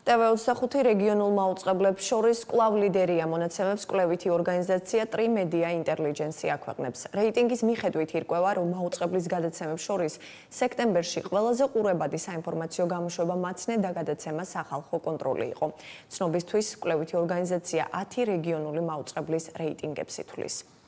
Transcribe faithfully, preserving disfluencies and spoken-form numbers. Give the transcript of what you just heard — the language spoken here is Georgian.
ტე ვე ოცდახუთი რეგიონულ მაუწყებლებს შორის კვლავ ლიდერია მონაცემებს კვლევითი ორგანიზაცია ტრიმედია ინტელიგენცია აქვეყნებს. რეიტინგის მიხედვით ირკვევა, რომ მაუწყებლის გადაცემებს შორის სექტემბერში ყველაზე ყურებადი საინფორმაციო გამოშვება მაცნე და გადაცემა სახალხო კონტროლი იყო. ცნობისთვის კვლევითი ორგანიზაცია ათი რეგიონული მაუწყებლის რეიტინგებს ითვლის.